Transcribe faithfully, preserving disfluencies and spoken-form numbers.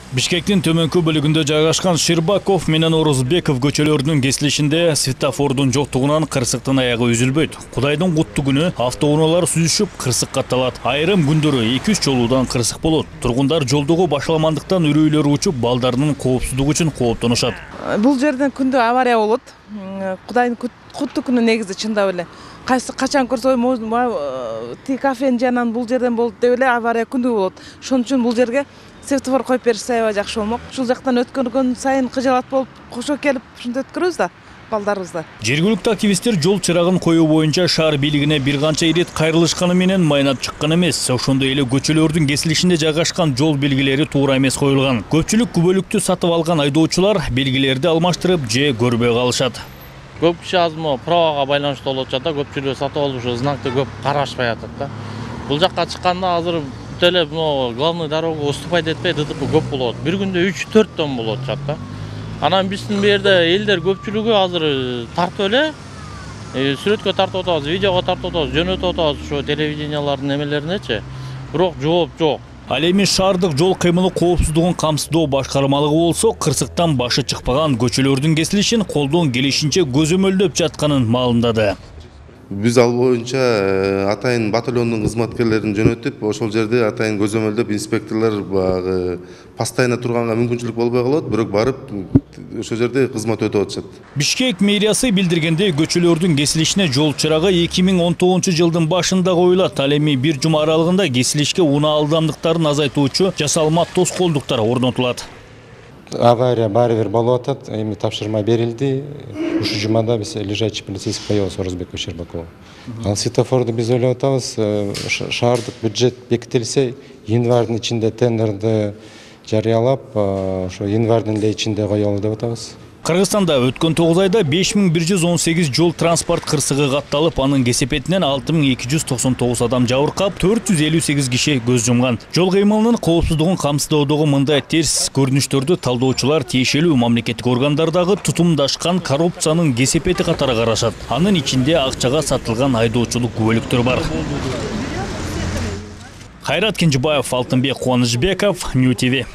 Бишкектин төмөнкү бөлүгүндө жайгашкан Ширбаков менен Орозбеков көчөлөрүнүн кесилишинде светофордун жоктугунан кырсыктын аягы үзүлбөйт. Кудайдын куттуу күнү автоунаалар сүзүшүп кырсык катталат. Айрым күндөрү эки үч жолуудан кырсык болот. Тургундар жолдогу башаламандыктан үрөйлөрү учуп, балдарынын коопсуздугу үчүн кооптонушат. Бул жерден күндө авария болот. Кудайдын куттуу күнү негизи чындап эле. Кайсы качан көрсө ти кафенин жанынан бул жерден болот деп эле авария күндү болот. Ошон үчүн бул жерге светофор коюп беришсе аябай жакшы болмок. Ушул жактан өткөргөн сайын кыжалат болуп, кошо келип ушинтип өткөрөбүз да балдарыбызды. Жергиликтүү активисттер жол чырагын коюу боюнча шаар бийлигине бир канча ирет кайрылышканы менен майнап чыккан эмес. Ошондой эле көчөлөрдүн кесилишинде жайгашкан жол белгилери туура эмес коюлган. Көпчүлүк күбөлүктү сатып алган айдоочулар белгилерди алмаштырып же көрбөй калышат. Көп киши азыр правага байланыштуу болуп атат да, көпчүлүк сатып алып ушу знакты көп карашпай атат да. Бул жакка чыкканда азыр эле главный дорога уступать этпей ДТП көп болот. Бир күндө үч төрт тон болот чат да. Анан биздин бу жерде элдер көпчүлүгү азыр тартып эле сүрөткө тартып атабыз, видеого тартып атабыз, жөнөтүп атабыз ушу телевидениялардын эмелеринечи. Бирок жооп жок. Ал эми шаардык жол кыймылы коопсуздугун камсыздоо башкармалыгы болсо, кырсыктан башы чыкпаган көчөлөрдүн кесилишин колдон келишинче көзөмөлдөп жатканын маалымдады. Биз ал боюнча атайын батальондун кызматкерлерин жөнөтүп, ошол жерде атайын көзөмөлдөп инспекторлор багы постоянно турганга мүмкүнчүлүк болбой калат, бирок барып ошол жерде кызмат өтөп атышат. Бишкек мэриясы билдиргендей, көчөлөрдүн кесилишине жол чырагы эки миң он тогузунчу жылдын башында коюлат. Ал эми бир жума аралыгында кесилишке унаа ылдамдыктарын азайтуучу жасалма тоскоолдуктар орнотулат. Авария баары болуп атат, эми тапшырма берилди. Ушу жумада биз лежачий полицейский коебуз Орозбеков Щербакова. Ал светофорду биз ойлоп атабыз, шаардык бюджет бекитилсе, январдын ичинде тендерди жарыялап, ошо январдын эле ичинде коелу деп атабыз. Кыргызстанда өткөн тогуз айда беш миң бир жүз он сегиз жол транспорт кырсыгы катталып, анын кесепетинен алты миң эки жүз токсон тогуз адам жабыркап, төрт жүз элүү сегиз киши көз жумган. Жол кыймылынын коопсуздугун камсыздоодогу мындай терс көрүнүштөрдү талдоочулар тиешелүү мамлекеттик органдардагы тутумдашкан коррупциянын кесепети катары карашат. Анын ичинде акчага сатылган айдоочулук күбөлүктөр бар. Кайрат Кенжебаев, Алтынбек Кубанычбеков, Нью ти ви.